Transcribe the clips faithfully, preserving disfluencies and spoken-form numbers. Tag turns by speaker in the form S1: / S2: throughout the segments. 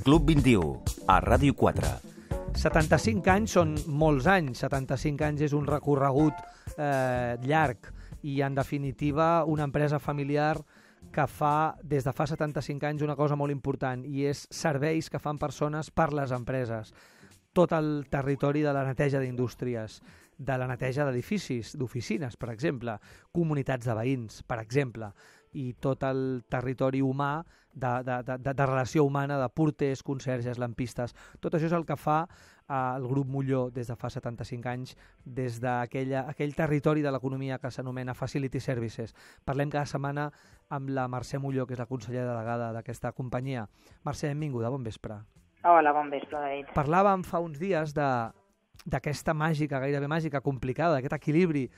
S1: Club vint-i-u, a Ràdio quatre.
S2: setanta-cinc anys són molts anys, setanta-cinc anys és un recorregut eh, llarg i, en definitiva, una empresa familiar que fa, des de fa setanta-cinc anys, una cosa molt important, i és serveis que fan persones per les empreses. Tot el territori de la neteja d'indústries, de la neteja d'edificis, d'oficines, per exemple, comunitats de veïns, per exemple, i tot el territori humà de, de, de, de relació humana, de porters, conserges, lampistes. Tot això és el que fa eh, el grup Molló des de fa setanta-cinc anys, des d'aquell territori de l'economia que s'anomena Facility Services. Parlem cada setmana amb la Mercè Molló, que és la consellera delegada d'aquesta companyia. Mercè, benvinguda, bon vespre.
S3: Hola, bon vespre, David.
S2: Parlàvem fa uns dies d'aquesta màgica, gairebé màgica, complicada, d'aquest equilibri,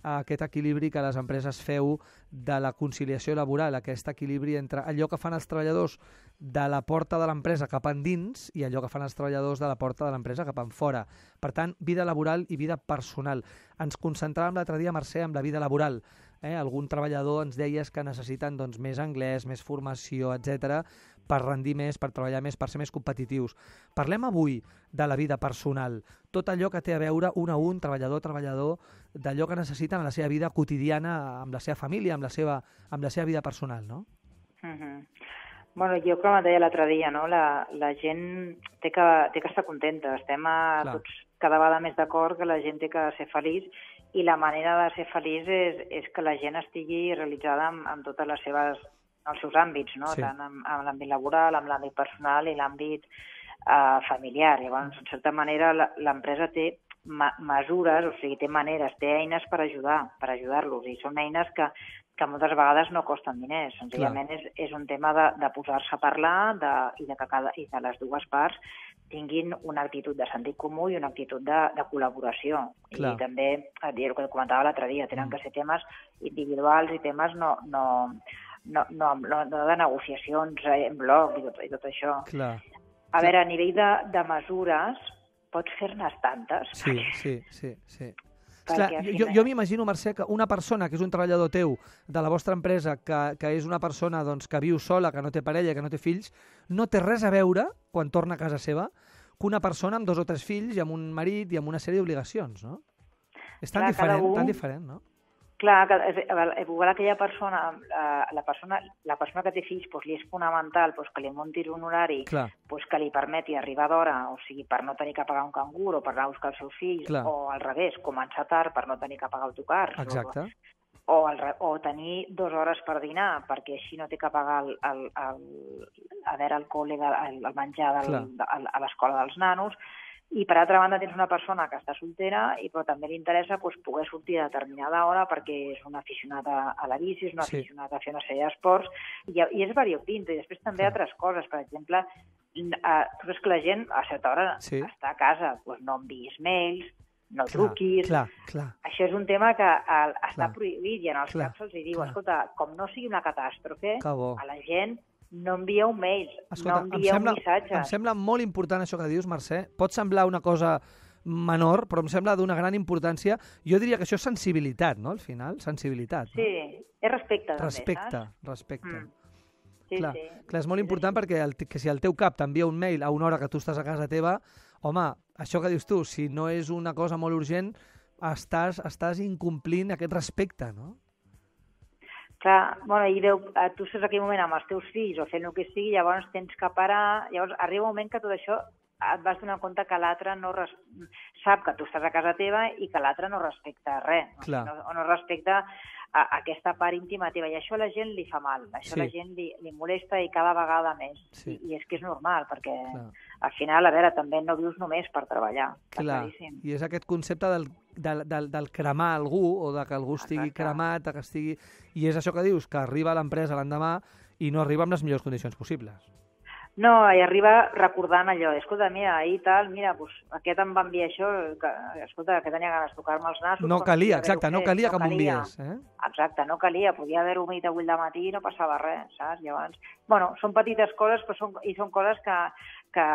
S2: aquest equilibri que les empreses feu de la conciliació laboral, aquest equilibri entre allò que fan els treballadors de la porta de l'empresa cap endins i allò que fan els treballadors de la porta de l'empresa cap en fora. Per tant, vida laboral i vida personal. Ens concentràvem l'altre dia, Mercè, amb la vida laboral. Eh? Algun treballador ens deies que necessiten doncs, més anglès, més formació, etcètera, per rendir més, per treballar més, per ser més competitius. Parlem avui de la vida personal, tot allò que té a veure un a un, treballador a treballador, d'allò que necessiten en la seva vida quotidiana, amb la seva família, amb la seva, amb la seva vida personal, no?
S3: Uh-huh. Bueno, jo com et deia l'altre dia, no? la, la gent té que, té que estar contenta. Estem a, tots cada vegada més d'acord que la gent té que ser feliç, i la manera de ser feliç és, és que la gent estigui realitzada en, en totes les seves, els seus àmbits, no? Sí. Tant en, en l'àmbit laboral, en l'àmbit personal i l'àmbit eh, familiar. Llavors, en certa manera, l'empresa té ma mesures, o sigui, té maneres, té eines per ajudar, per ajudar-los, i són eines que, que moltes vegades no costen diners. Senzillament és, és un tema de, de posar-se a parlar de, i, de que cada, i de les dues parts tinguin una actitud de sentit comú i una actitud de, de col·laboració. Clar. I també, el que comentava l'altre dia, tenen que ser temes individuals i temes no, no, no, no, no, no de negociacions en bloc i tot, i tot això.
S2: Clar.
S3: A veure, a nivell de, de mesures, pots fer-ne tantes.
S2: Sí, sí, sí, sí. Clar, jo jo m'imagino, Mercè, que una persona que és un treballador teu de la vostra empresa, que, que és una persona doncs, que viu sola, que no té parella, que no té fills, no té res a veure, quan torna a casa seva, que una persona amb dos o tres fills i amb un marit i amb una sèrie d'obligacions, no? És tan, Clar, diferent, un... tan diferent, no?
S3: Clar, igual aquella persona, la persona, la persona que té fills, doncs, li és fonamental doncs, que li muntis un horari doncs, que li permeti arribar d'hora, o sigui, per no tenir que pagar un cangur o per anar a buscar els seus fills, Clar. O al revés, començar tard per no tenir que pagar autocars.
S2: Exacte.
S3: O, o, el, o tenir dues hores per dinar, perquè així no té que pagar el, el, el, a veure el col·le, el, el menjar del, de, a l'escola dels nanos. I, per altra banda, tens una persona que està soltera i però també li interessa doncs, poder sortir a determinada hora perquè és un aficionat a, a la bici, és un sí. aficionat a fer una sèrie d'esports, i, i és variopinto. I després també sí. altres coses. Per exemple, eh, tu saps que la gent a certa hora sí. està a casa, doncs no enviïs mails, no truquis...
S2: Clar, clar.
S3: Això és un tema que el, està clar. prohibit, i en els clar. caps se'ls diu, clar. escolta, com no sigui una catàstrofe, a la gent... no envieu mails, Escolta, no envieu
S2: em sembla,
S3: missatges.
S2: Em sembla molt important això que dius, Mercè. Pot semblar una cosa menor, però em sembla d'una gran importància. Jo diria que això és sensibilitat, no?, al final, sensibilitat.
S3: Sí, no? És respecte, també,
S2: respecte,
S3: saps?
S2: Respecte,
S3: mm. sí,
S2: clar,
S3: sí.
S2: clar, és molt important sí, perquè el, que si el teu cap t'envia un mail a una hora que tu estàs a casa teva, home, això que dius tu, si no és una cosa molt urgent, estàs, estàs incomplint aquest respecte, no?
S3: Clar, bueno, i veu, tu estàs en aquell moment amb els teus fills o fent el que sigui, llavors tens que parar, llavors arriba un moment que tot això et vas donar compte que l'altre no res... sap que tu estàs a casa teva i que l'altre no respecta res, no, no, no respecta a, a aquesta part íntima teva, i això a la gent li fa mal, això sí. a la gent li, li molesta i cada vegada més, sí. I, i és que és normal, perquè Clar. al final, a veure, també no vius només per treballar.
S2: Clar, i és aquest concepte del Del, del, del cremar algú, o de que algú estigui Exacte. cremat, que estigui... I és això que dius, que arriba a l'empresa l'endemà i no arriba amb les millors condicions possibles.
S3: No, i arriba recordant allò, escolta, mira, ahir tal, mira, pues, aquest em va enviar això, que, escolta, que tenia ganes de tocar-me els nassos...
S2: No calia, exacte, no calia no que m'enviés. Eh?
S3: Exacte, no calia, podia haver-ho dit avui al matí i no passava res, saps? Llavors, bueno, són petites coses, però són, i són coses que, que,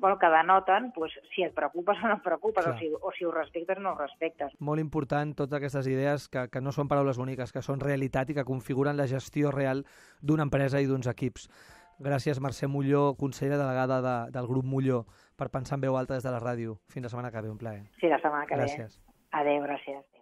S3: bueno, que denoten pues, si et preocupes o no et preocupes, o si, o si ho respectes o no ho respectes.
S2: Molt important totes aquestes idees que, que no són paraules boniques, que són realitat i que configuren la gestió real d'una empresa i d'uns equips. Gràcies, Mercè Molló, consellera delegada de, del grup Molló, per pensar en veu alta des de la ràdio. Fins la setmana que ve, un plaer.
S3: Sí, la setmana que
S2: gràcies.
S3: ve. Adéu, gràcies.